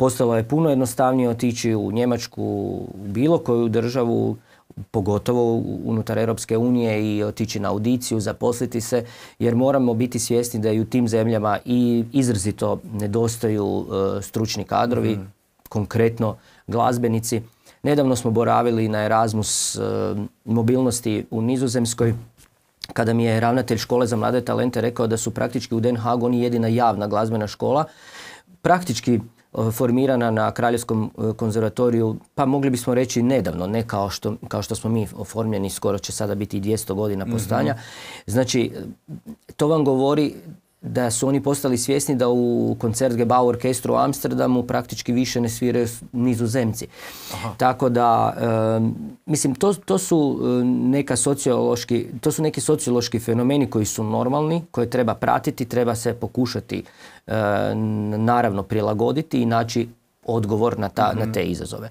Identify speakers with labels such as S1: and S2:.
S1: Postalo je puno jednostavnije otići u Njemačku, u bilo koju državu, pogotovo unutar Europske unije, i otići na audiciju, zaposliti se, jer moramo biti svjesni da i u tim zemljama i izrazito nedostaju stručni kadrovi, konkretno glazbenici. Nedavno smo boravili na Erasmus mobilnosti u Nizozemskoj, kada mi je ravnatelj škole za mlade talente rekao da su praktički u Den Haagu oni jedina javna glazbena škola, praktički formirana na Kraljevskom konzervatoriju, pa mogli bismo reći nedavno, ne kao što smo mi oformljeni, skoro će sada biti i 200 godina postojanja. Znači, to vam govori da su oni postali svjesni da u Concertgebouw orkestru u Amsterdamu praktički više ne sviraju Nizozemci. Tako da, mislim, to su neki sociološki fenomeni koji su normalni, koje treba pratiti, treba se pokušati naravno prilagoditi i naći odgovor na te izazove.